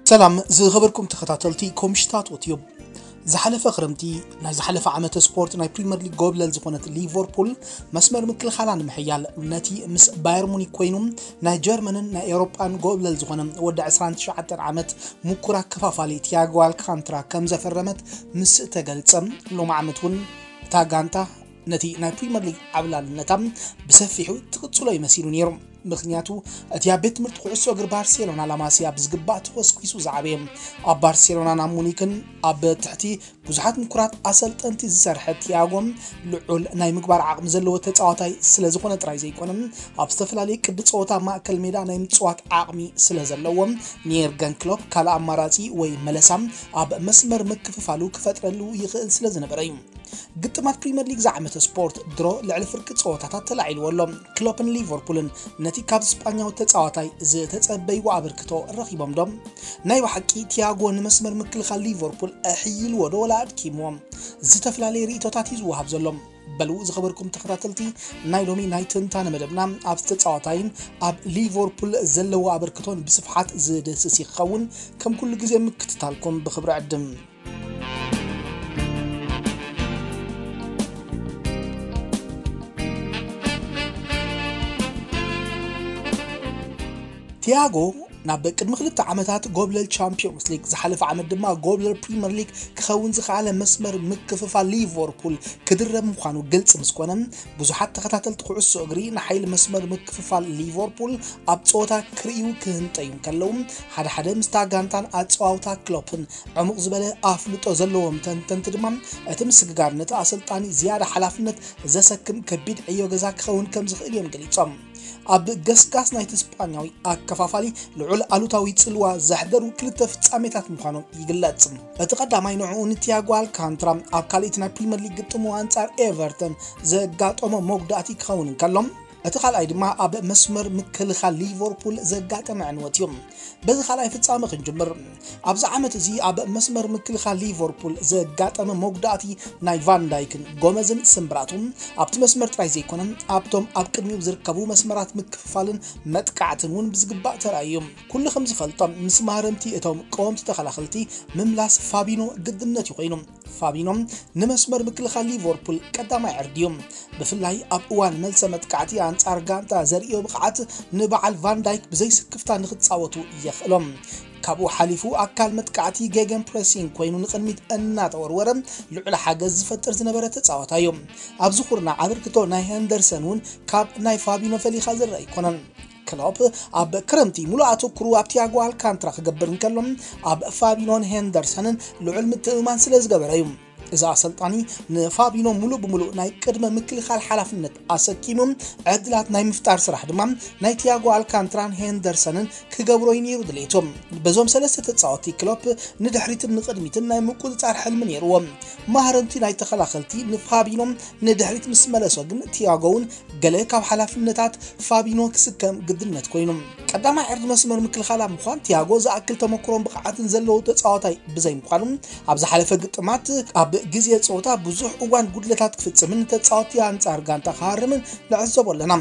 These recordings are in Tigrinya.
ሰላም ዝኸበርኩም ተኸታተልቲ ኮምሽታት ኦትዩብ። ዝሓለፈ ክረምቲ ናይ ዝሓለፈ ዓመተ ስፖርት ናይ ፕሪምየር ሊግ ጎብለል ዝኾነት ሊቨርፑል መስመር ምክልኻላ ንምሕያል ነቲ ምስ ባየር ሙኒክ ኮይኑ ናይ ጀርመንን ናይ ኤውሮጳን ጎብለል ዝኾነ ወዲ ዕስራን ትሽዓተን ዓመት ምኩር ኣከፋፋሊ ቲያጎ ኣልካንትራ ከም ዘፈረመት ምስ ተገልጸ፣ ሎም ዓመት እውን እታ ጋንታ ነቲ ናይ ፕሪምየር ሊግ ዓብላልነታ ብሰፊሑ ትቕጽሎ ይመሲሉ ነይሩ። ምኽንያቱ እቲ ኣብ ቤት ትምህርቲ ኩዕሶ እግሪ ባርሴሎና ላማሲያ ብዝግባእ ተኾስኲሱ ዝዓበየ፣ ኣብ ባርሴሎና ናብ ሙኒክን ኣብ ትሕቲ ብዙሓት ምኩራት ኣሰልጠንቲ ዝሰርሐ ቲያጎ ልዑል ናይ ምግባር ዓቕሚ ዘለዎ ተጻዋታይ ስለ ዝኾነ ጥራይ ዘይኮነ፣ ኣብ ዝተፈላለየ ቅዲ ጸወታ ማእከል ሜዳ ናይ ምጽዋት ዓቕሚ ስለ ዘለዎ፣ ንየርገን ክሎፕ ካልእ ኣማራጺ ወይ መለሳ ኣብ መስመር ምክፍፋሉ ክፈጥረሉ ይኽእል ስለ ዝነበረ እዩ። ግጥማት ፕሪምየር ሊግ ዝዓመተ ስፖርት ድሮ ልዕሊ ፍርቂ ጸወታታት ተላዒልዎ ኣሎ። ክሎፕን ሊቨርፑልን ነቲ ካብ ስጳኛዊ ተጻዋታይ ዝተጸበይዎ ኣበርክቶ ረኺቦም ዶ? ናይ ብሓቂ ቲያጎ ንመስመር ምክልኻል ሊቨርፑል ኣሕይልዎ ዶ ወላ ኣድኪምዎ? ዝተፈላለየ ርእይቶታት እዩ ዝወሃብ ዘሎ። በሉ ዝኸበርኩም ተኸታተልቲ ናይ ሎሚ ናይ ትንታነ መደብና፣ ኣብቲ ተጻዋታይን ኣብ ሊቨርፑል ዘለዎ ኣበርክቶን ብስፍሓት ዝድህስስ ይኸውን። ከም ኩሉ ግዜ ምክትታልኩም ብኽብሪ ዕድም። ቲያጎ ናብ ቅድሚ ክልተ ዓመታት ጎብለል ቻምፒዮንስ ሊግ፣ ዝሓለፈ ዓመት ድማ ጎብለል ፕሪምየር ሊግ ክኸውን ዝኸኣለ መስመር ምክፍፋል ሊቨርፑል ክድረብ ምዃኑ ግልጺ ምስ ኮነ፣ ብዙሓት ተኸታተልቲ ኩዕሶ እግሪ ንሓይሊ መስመር ምክፍፋል ሊቨርፑል ኣብ ጸወታ ክርእዩ ክህንጠዩ እንከለዉ፣ ሓደ ሓደ ምስታ ጋንታን ኣጸዋውታ ክሎፕን ዕሙቕ ዝበለ ኣፍልጦ ዘለዎም ተንተንቲ ድማ፣ እቲ ምስግጋር ነቲ ኣሰልጣኒ ዝያዳ ሓላፍነት ዘሰክም ከቢድ ዕዮ ገዛ ክኸውን ከም ዝኽእል እዮም ገሊጾም። ኣብ ገስጋስ ናይቲ ስጳኛዊ ኣከፋፋሊ ልዑል ኣሉታዊ ጽልዋ ዘሕደሩ ክልተ ፍጻሜታት ምዃኖም ይግለጽ። እቲ ቀዳማይ ንዕኡ ንቲያጎ ኣልካንትራ ኣብ ካልኣይቲ ናይ ፕሪምየር ሊግ ግጥሙ ኣንጻር ኤቨርተን ዘጋጠሞ መጉዳእቲ ክኸውን እንከሎ፣ እቲ ካልኣይ ድማ ኣብ መስመር ምክልኻል ሊቨርፑል ዘጋጠመ ዕንወት እዩ። በዚ ካልኣይ ፍጻመ ክንጅምር። ኣብዚ ዓመት እዚ ኣብ መስመር ምክልኻል ሊቨርፑል ዘጋጠመ መጉዳእቲ ናይ ቫን ዳይክን ጎመዝን ስምብራቱ ኣብቲ መስመር ጥራይ ዘይኮነ፣ ኣብቶም ኣብ ቅድሚኡ ዝርከቡ መስመራት ምክፍፋልን መጥቃዕትን እውን ብዝግባእ ተራእዩ እዩ። ኩሉ ከም ዝፈልጦ፣ ምስ ማህረምቲ እቶም ቀወምቲ ተኸላኸልቲ ምምላስ ፋቢኖ ግድነት እዩ ኮይኑ። ፋቢኖ ንመስመር ምክልኻል ሊቨርፑል ቀዳማይ ዕርዲ እዩ። ብፍላይ ኣብ እዋን መልሰ መጥቃዕቲ ኣንጻር ጋንታ ዘርእዮ ብቕዓት ንበዓል ቫን ዳይክ ብዘይ ስክፍታ ንኽጻወቱ የኽእሎም። ካብኡ ሓሊፉ ኣካል መጥቃዕቲ ጌገን ፕሬሲንግ ኮይኑ ንቕድሚት እናተወርወረ ልዑል ሓገዝ ዝፈጥር ዝነበረ ተጻዋታይ እዩ። ኣብዚ ኩርናዕ ኣበርክቶ ናይ ሄንደርሰን እውን ካብ ናይ ፋቢኖ ፈሊኻ ዝረአ ኣይኮነን። ክሎፕ ኣብ ክረምቲ ሙሉእ ኣተኩሩ ኣብ ቲያጎ ኣልካንትራ ክገብር እንከሎ፣ ኣብ ፋቢኖን ሄንደርሰንን ልዑል ምትእምማን ስለ ዝገበረ እዩ። እዚ ኣሰልጣኒ ንፋቢኖ ሙሉእ ብሙሉእ ናይ ቅድመ ምክልኻል ሓላፍነት ኣሰኪሙ ዕድላት ናይ ምፍጣር ስራሕ ድማ ናይ ቲያጎ ኣልካንትራን ሄንደርሰንን ክገብሮ እዩ ነይሩ ድሌቱ። በዞም ሰለስተ ተጻወትቲ ክሎፕ ንድሕሪትን ንቕድሚትን ናይ ምቁጽጻር ሕልሚ ነይርዎ። ማህረምቲ ናይ ተኸላኸልቲ ንፋቢኖ ንድሕሪት ምስ መለሶ ግን ቲያጎ እውን ገለ ካብ ሓላፍነታት ፋቢኖ ክስከም ግድነት ኮይኑ። ቀዳማይ ዕርዲ መስመር ምክልኻል ኣብ ምዃን ቲያጎ ዝኣክል ተመክሮን ብቕዓትን ዘለዎ ተጻዋታይ ብዘይ ምዃኑ፣ ኣብ ዝሓለፈ ግጥማት ኣብ ግዜ ጸወታ ብዙሕ እዋን ጉድለታት ክፍጽምን ተጻወትቲ ኣንጻር ጋንታ ክሃርምን ንዕዘቦ ኣለና።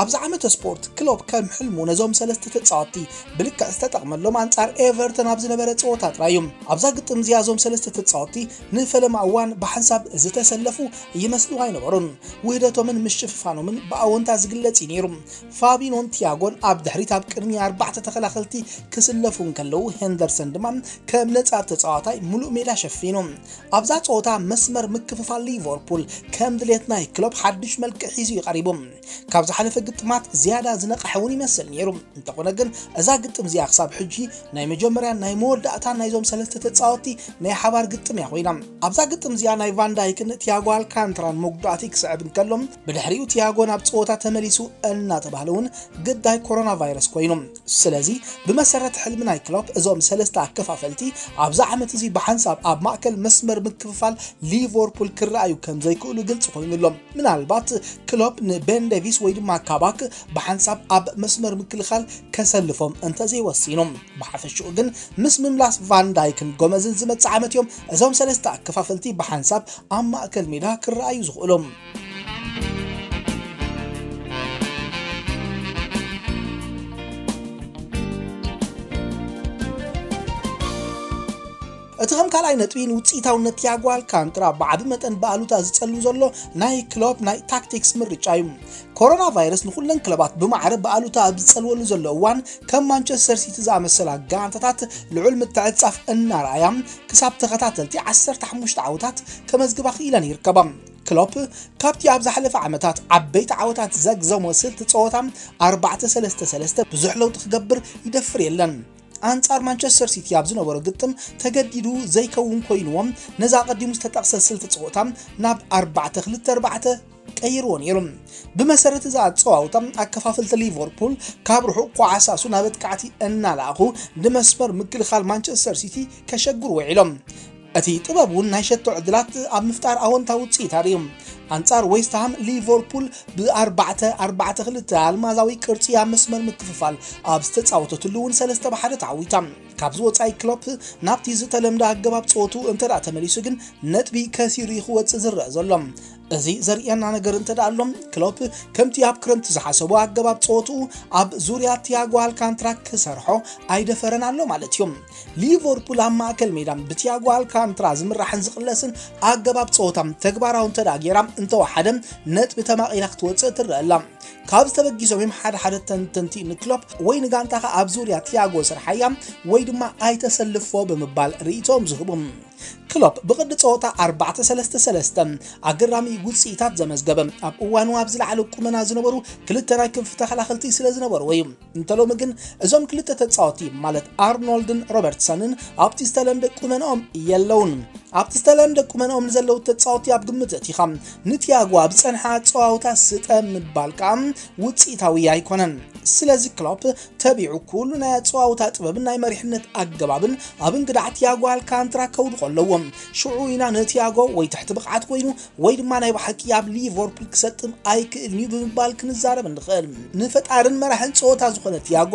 ኣብዚ ዓመተ ስፖርት ክሎፕ ከም ሕልሙ ነዞም ሰለስተ ተጻወትቲ ብልክዕ ዝተጠቕመሎም ኣንጻር ኤቨርተን ኣብ ዝነበረ ጸወታ ጥራይ እዩ። ኣብዛ ግጥም እዚኣ እዞም ሰለስተ ተጻወትቲ ንፈለማ እዋን ብሓንሳብ ዝተሰለፉ ይመስሉ ኣይነበሩን። ውህደቶምን ምሽፍፋኖምን ብኣወንታ ዝግለጽ እዩ ነይሩ። ፋቢኖን ቲያጎን ኣብ ድሕሪት ኣብ ቅድሚ ኣርባዕተ ተኸላኸልቲ ክስለፉ እንከለዉ፣ ሄንደርሰን ድማ ከም ነጻር ተጻዋታይ ሙሉእ ሜዳ ሸፊኑ። ኣብዛ ጸወታ መስመር ምክፍፋል ሊቨርፑል ከም ድሌት ናይ ክሎፕ ሓድሽ መልክዕ ሒዙ እዩ ቀሪቡ። ካብ ዝሓለፈ ግጥማት ዝያዳ ዝነቕሐ እውን ይመስል ነይሩ። እንተኾነ ግን እዛ ግጥም እዚኣ ክሳብ ሕጂ ናይ መጀመርያን ናይ መወዳእታን ናይዞም ሰለስተ ተጻወትቲ ናይ ሓባር ግጥም እያ ኮይና። ኣብዛ ግጥም እዚኣ ናይ ቫን ዳይክን ቲያጎ ኣልካንትራን መጉዳእቲ ክስዕብ እንከሎ፣ ብድሕሪኡ ቲያጎ ናብ ጸወታ ተመሊሱ እናተባህለ እውን ግዳይ ኮሮና ቫይረስ ኮይኑ። ስለዚ ብመሰረት ሕልሚ ናይ ክሎፕ እዞም ሰለስተ ኣከፋፈልቲ ኣብዚ ዓመት እዚ ብሓንሳብ ኣብ ማእከል መስመር ምክፍፋል ሊቨርፑል ክረኣዩ ከም ዘይክእሉ ግልጺ ኮይኑ ኣሎ። ምናልባት ክሎፕ ንቤን ዴቪስ ወይ ድማ ካባክ ብሓንሳብ ኣብ መስመር ምክልኻል ከሰልፎም እንተዘይወሲኑ። ብሓፈሽኡ ግን ምስ ምምላስ ቫን ዳይክን ጎመዝን ዝመጽእ ዓመት እዮም እዞም ሰለስተ ኣከፋፈልቲ ብሓንሳብ ኣብ ማእከል ሜዳ ክረኣዩ ዝኽእሉ። እቲ ከም ካልኣይ ነጥቢ ንውፅኢታውነት ቲያጎ ኣልካንትራ ብዓቢ መጠን ብኣሉታ ዝጸሉ ዘሎ ናይ ክሎፕ ናይ ታክቲክስ ምርጫ እዩ። ኮሮና ቫይረስ ንኹለን ክለባት ብማዕረ ብኣሉታ ኣብ ዝጸልወሉ ዘሎ እዋን፣ ከም ማንቸስተር ሲቲ ዝኣመሰላ ጋንታታት ልዑል ምትዕጻፍ እናረኣያ ክሳብ ተኸታተልቲ ዓሰርተ ሓሙሽተ ዓወታት ከመዝግባ ክኢለን ይርከባ። ክሎፕ ካብቲ ኣብ ዝሓለፈ ዓመታት ዓበይቲ ዓወታት ዘግዘሞ ስልቲ ጸወታ ኣርባዕተ ሰለስተ ሰለስተ ብዙሕ ለውጢ ክገብር ይደፍር የለን። ኣንጻር ማንቸስተር ሲቲ ኣብ ዝነበሮ ግጥም ተገዲዱ ዘይከውን ኮይንዎም ነዛ ኣቐዲሙ ዝተጠቕሰ ስልቲ ጸወታ ናብ ኣርባዕተ ክልተ ኣርባዕተ ቀይርዎ ነይሩ። ብመሰረት እዛ ኣጸዋውታ ኣከፋፈልቲ ሊቨርፑል ካብ ርሑቕ ኳዓሳሱ ናብ ኣጥቃዕቲ እናለኣኹ ንመስመር ምክልኻል ማንቸስተር ሲቲ ከሸግሩ ውዒሎም። እቲ ጥበብ እውን ናይ ሸቶ ዕድላት ኣብ ምፍጣር ኣወንታዊ ውፅኢት ኣርእዩ። ኣንጻር ዌስትሃም ሊቨርፑል ብኣርባዕተ ኣርባዕተ ክልተ ኣልማዛዊ ቅርጺ ኣብ መስመር ምክፍፋል ኣብ ዝተጻወተትሉ እውን ሰለስተ ብሓደ ተዓዊታ። ካብዚ ወጻኢ ክሎፕ ናብቲ ዝተለምደ ኣገባብ ጸወቱ እንተ ደኣ ተመሊሱ ግን ነጥቢ ከሲሩ እዩ ክወጽእ ዝረአ ዘሎ። እዚ ዘርእየና ነገር እንተ ደኣ ኣሎ፣ ክሎፕ ከምቲ ኣብ ክረምቲ ዝሓሰቦ ኣገባብ ጸወትኡ ኣብ ዙርያ ቲያጎ ኣልካንትራ ክሰርሖ ኣይደፈረን ኣሎ ማለት እዩ። ሊቨርፑል ኣብ ማእከል ሜዳ ብቲያጎ ኣልካንትራ ዝምራሕን ዝቕለስን ኣገባብ ጸወታ ተግባራዊ እንተ ደኣ ገይራ እንተወሓደ ነጥቢ ተማቒላ ክትወጽእ ትረአ ኣላ። ካብ ዝተበጊሶም እዮም ሓደ ሓደ ተንተንቲ ንክሎፕ ወይ ንጋንታኻ ኣብ ዙርያ ቲያጎ ስርሓያ ወይ ድማ ኣይተሰልፎ ብምባል ርእይቶም ዝህቡ። ክሎፕ ብቕዲ ጸወታ ኣርባዕተ ሰለስተ ሰለስተ ኣገራሚ ውጽኢታት ዘመዝገበ፣ ኣብ እዋኑ ኣብ ዝለዓለ ቁመና ዝነበሩ ክልተ ናይ ክንፊ ተኸላኸልቲ ስለ ዝነበርዎ እዩ። እንተ ሎሚ ግን እዞም ክልተ ተጻወቲ ማለት ኣርኖልድን ሮበርትሰንን ኣብቲ ዝተለምደ ቁመናኦም የለውን። ኣብቲ ዝተለምደ ቁመናኦም ንዘለዉ ተጻወቲ ኣብ ግምት ኣእቲኻ ንቲያጎ ኣብ ዝጸንሐ ኣጸዋውታ ስጠ ምባል ከኣ ውጽኢታዊ ኣይኮነን። ስለዚ ክሎፕ ተቢዑ ኩሉ ናይ ኣጸዋውታ ጥበብን ናይ መሪሕነት ኣገባብን ኣብ እንግዳዕ ቲያጎ ኣልካንትራ ከውድቖ ኣለዎ። ሽዑ ኢና ንቲያጎ ወይ ትሕቲ ብቕዓት ኮይኑ ወይ ድማ ናይ ብሓቂ ኣብ ሊቨርፑል ክሰጥም ኣይክእልን እዩ ብምባል ክንዛረብ ንኽእል። ንፈጣርን መራሕን ጸወታ ዝኾነ ቲያጎ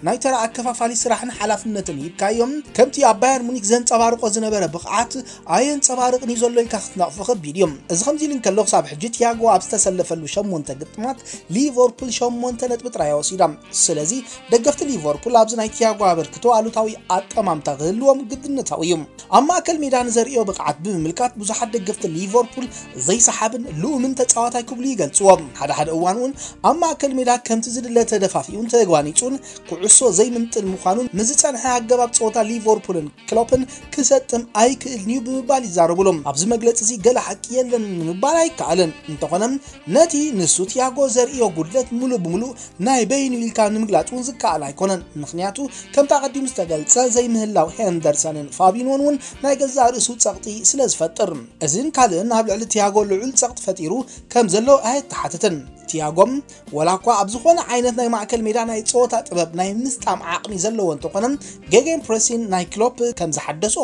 ናይ ተራ ኣከፋፋሊ ስራሕን ሓላፍነትን ሂብካዮም፣ ከምቲ ኣብ ባየር ሙኒክ ዘንጸባርቆ ዝነበረ ብቕዓት ኣየንጸባርቕን እዩ ዘሎ ኢልካ ክትነቕፎ ከቢድ እዩ። እዚ ከምዚ ኢሉ እንከሎ ክሳብ ሕጂ ቲያጎ ኣብ ዝተሰለፈሉ ሸሞንተ ግጥማት ሊቨርፑል ሸሞንተ ነጥቢ ጥራይ ወሲዳ። ስለዚ ደገፍቲ ሊቨርፑል ኣብዚ ናይ ቲያጎ ኣበርክቶ ኣሉታዊ ኣጠማምታ ክህልዎም ግድነታዊ እዩ። ኣብ ማእከል ሜዳ ንዘርእዮ ብቕዓት ብምምልካት ብዙሓት ደገፍቲ ሊቨርፑል ዘይሰሓብን ልኡምን ተጻዋታይ ክብሉ ይገልጽዎ። ሓደ ሓደ እዋን እውን ኣብ ማእከል ሜዳ ከምቲ ዝድለ ተደፋፊኡን ተጓኒጹን ኩዕሶ ዘይምንጥል ምዃኑን ምስ ዝጸንሐ ኣገባብ ጸወታ ሊቨርፑልን ክሎፕን ክሰጥም ኣይክእልን እዩ ብምባል ይዛረቡሎም። ኣብዚ መግለጺ እዚ ገለ ሓቂ የለን ንምባል ኣይከኣልን። እንተኾነ ነቲ ንሱ ቲያጎ ዘርእዮ ጉድለት ሙሉእ ብሙሉእ ናይ በይኑ ኢልካ ንምግላጽ እውን ዝከኣል ኣይኮነን። ምኽንያቱ ከምቲ ኣቐዲሙ ዝተገልጸ ዘይምህላው ሄንደርሰንን ፋቢኖን እውን ናይ ገዛእ ርእሱ ጸቕጢ ስለ ዝፈጥር፣ እዚን ካልእን ኣብ ልዕሊ ቲያጎ ልዑል ጸቕጢ ፈጢሩ ከም ዘሎ ኣየተሓትትን። ቲያጎ ወላ እኳ ኣብ ዝኾነ ዓይነት ናይ ማእከል ሜዳ ናይ ጸወታ ጥበብ ናይ ምስጣም ዓቕሚ ዘለዎ እንተኾነ፣ ጌጌን ፕሬሲን ናይ ክሎፕ ከም ዝሓደሶ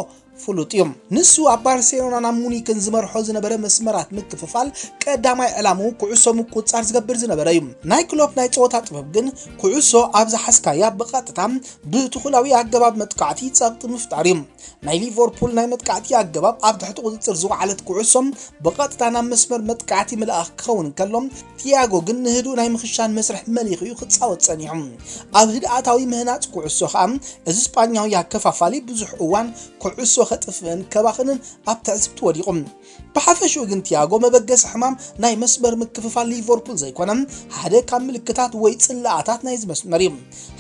ፍሉጥ እዩ። ንሱ ኣብ ባርሴሎናን ኣብ ሙኒክን ዝመርሖ ዝነበረ መስመራት ምክፍፋል ቀዳማይ ዕላምኡ ኩዕሶ ምቁጽጻር ዝገብር ዝነበረ እዩ። ናይ ክሎፕ ናይ ጸወታ ጥበብ ግን ኩዕሶ ኣብ ዝሓዝካያ ብቐጥታ ብትኹላዊ ኣገባብ መጥቃዕቲ ጸቕጢ ምፍጣር እዩ። ናይ ሊቨርፑል ናይ መጥቃዕቲ ኣገባብ ኣብ ትሕቲ ቁጽጽር ዝወዓለት ኩዕሶ ብቐጥታ ናብ መስመር መጥቃዕቲ ምልኣኽ ክኸውን እንከሎ፣ ቲያጎ ግን ንህዱእ ናይ ምኽሻን መስርሕ መሊኹ እዩ ክጻወት ጸኒሑ። ኣብ ህድኣታዊ ምህናጽ ኩዕሶ ኸኣ እዚ ስጳኛዊ ኣከፋፋሊ ብዙሕ እዋን ኩዕሶ ከጥፍእን ከባኽንን ኣብ ትዕዝብቲ ወዲቑ። ብሓፈሽኡ ግን ቲያጎ መበገሲ ሕማም ናይ መስመር ምክፍፋል ሊቨርፑል ዘይኮነ፣ ሓደ ካብ ምልክታት ወይ ጽላኣታት ናይዚ መስመር እዩ።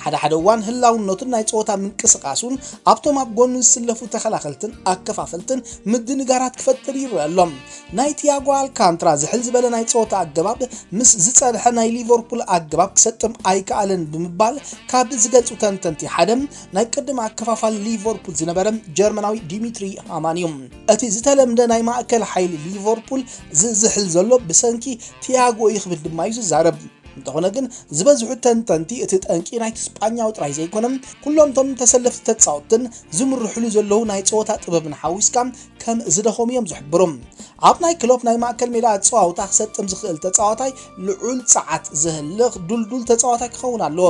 ሓደ ሓደ እዋን ህላውነቱን ናይ ጸወታ ምንቅስቓሱን ኣብቶም ኣብ ጎኑ ዝስለፉ ተኸላኸልትን ኣከፋፈልትን ምድንጋራት ክፈጥር ይረአ ኣሎ። ናይ ቲያጎ ኣልካንትራ ዝሕል ዝበለ ናይ ጸወታ ኣገባብ ምስ ዝጸንሐ ናይ ሊቨርፑል ኣገባብ ክሰጥም ኣይከኣለን ብምባል ካብ ዝገልጹ ተንተንቲ ሓደ ናይ ቅድም ኣከፋፋሊ ሊቨርፑል ዝነበረ ጀርመናዊ ዲሚትሪ ሃማን እዩ። እቲ ዝተለምደ ናይ ማእከል ሓይሊ ሊቨርፑል ዝዝሕል ዘሎ ብሰንኪ ቲያጎ እዩ ክብል ድማ እዩ ዝዛረብ። እንተኾነ ግን ዝበዝሑ ተንተንቲ እቲ ጠንቂ ናይቲ ስጳኛዊ ጥራይ ዘይኮነ፣ ኩሎም እቶም ተሰለፍቲ ተጻወትን ዝምርሕሉ ዘለዉ ናይ ጸወታ ጥበብን ሓዊስካ ከም ዝደኸሙ እዮም ዝሕብሩ። ኣብ ናይ ክሎፕ ናይ ማእከል ሜዳ ኣጸዋውታ ክሰጥም ዝኽእል ተጻዋታይ ልዑል ጸዓት ዘህልኽ ድልዱል ተጻዋታይ ክኸውን ኣለዎ።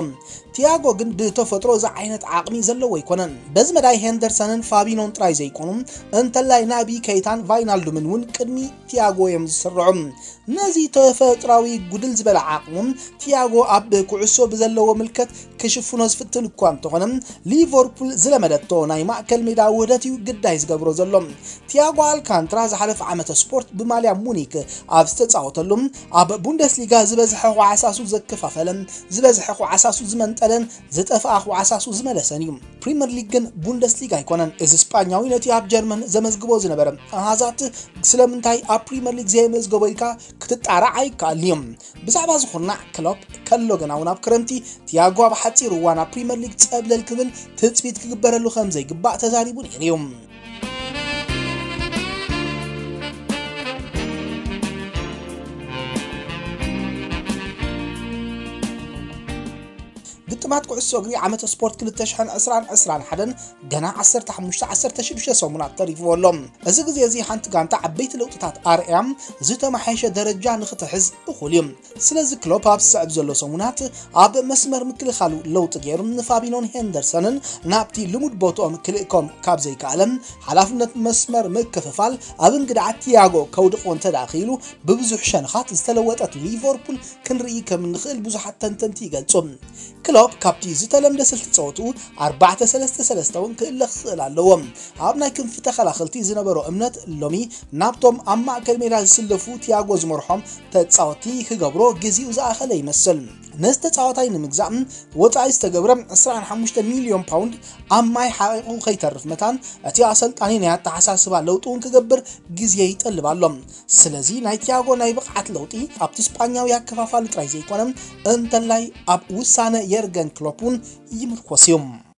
ቲያጎ ግን ብተፈጥሮ እዚ ዓይነት ዓቕሚ ዘለዎ ኣይኮነን። በዚ መዳይ ሄንደርሰንን ፋቢኖን ጥራይ ዘይኮኑ፣ እንተላይ ናቢ ኬይታን ቫይናልዱምን እውን ቅድሚ ቲያጎ እዮም ዝስርዑ። ነዚ ተፈጥራዊ ጉድል ዝበለ ዓቕሙ ቲያጎ ኣብ ኩዕሶ ብዘለዎ ምልከት ክሽፍኖ ዝፍትን እኳ እንተኾነ፣ ሊቨርፑል ዝለመደቶ ናይ ማእከል ሜዳ ውህደት እዩ ግዳይ ዝገብሮ ዘሎ። ቲያጎ ኣልካንትራ ዝሓለፈ ዓመተ ስፖርት ብማልያ ሙኒክ ኣብ ዝተጻወተሉ፣ ኣብ ቡንደስሊጋ ዝበዝሐ ኳዕሳሱ ዘከፋፈለን ዝበዝሐ ኳዕሳሱ ዝመንጠለን ዝጠፍኣ ኳዕሳሱ ዝመለሰን እዩ። ፕሪምየር ሊግ ግን ቡንደስሊጋ ኣይኮነን። እዚ ስጳኛዊ ነቲ ኣብ ጀርመን ዘመዝግቦ ዝነበረ ኣሃዛት ስለምንታይ ኣብ ፕሪምየር ሊግ ዘየመዝገቦ ኢልካ ክትጣራዕ ኣይከኣልን እዩ። ብዛዕባ እዚ ኩርናዕ ክሎፕ ከሎ ግና እውን ኣብ ክረምቲ ቲያጎ ኣብ ሓጺር እዋን ኣብ ፕሪምየር ሊግ ጸብለል ክብል ትጽቢት ክግበረሉ ከም ዘይግባእ ተዛሪቡ ነይሩ እዩ። ግጥማት ኩዕሶ እግሪ ዓመተ ስፖርት ክልተ ሽሕን ዕስራን ዕስራን ሓደን ገና ዓሰርተ ሓሙሽተ ዓሰርተ ሽዱሽተ ሰሙናት ተሪፍዎ ኣሎ። እዚ ግዜ እዚ ሓንቲ ጋንታ ዓበይቲ ለውጥታት ኣርእያ ዝተመሓየሸ ደረጃ ንክትሕዝ እኹል እዩ። ስለዚ ክሎፕ ኣብ ዝስዕብ ዘሎ ሰሙናት ኣብ መስመር ምክልኻሉ ለውጢ ገይሩ ንፋቢኖን ሄንደርሰንን ናብቲ ልሙድ ቦትኦም ክልእኮም ካብ ዘይከኣለ፣ ሓላፍነት መስመር ምክፍፋል ኣብ እንግድዓ ቲያጎ ከውድቆ እንተ ደኣ ክኢሉ፣ ብብዙሕ ሸነኻት ዝተለወጠት ሊቨርፑል ክንርኢ ከም እንኽእል ብዙሓት ተንተንቲ ይገልጹ። ክሎፕ ካብቲ ዝተለምደ ስልቲ ጸወትኡ ኣርባዕተ ሰለስተ ሰለስተ እውን ክእለ ክኽእል ኣለዎ። ኣብ ናይ ክንፊ ተኸላኸልቲ ዝነበሮ እምነት ሎሚ ናብቶም ኣብ ማእከል ሜዳ ዝስለፉ ቲያጎ ዝመርሖም ተጻወትቲ ክገብሮ ግዜኡ ዝኣኸለ ይመስል። ነዚ ተጻዋታይ ንምግዛእ ወጻኢ ዝተገብረ ዕስራን ሓሙሽተ ሚልዮን ፓውንድ ኣብ ማይ ሓቒቑ ከይተርፍ መታን፣ እቲ ኣሰልጣኒ ናይ ኣተሓሳስባ ለውጢ እውን ክገብር ግዜ ይጠልብ ኣሎ። ስለዚ ናይ ቲያጎ ናይ ብቕዓት ለውጢ ኣብቲ ስጳኛዊ ኣከፋፋሊ ጥራይ ዘይኮነ፣ እንተላይ ኣብ ውሳነ የርገን ክሎፕ እውን ይምርኮስ እዩ።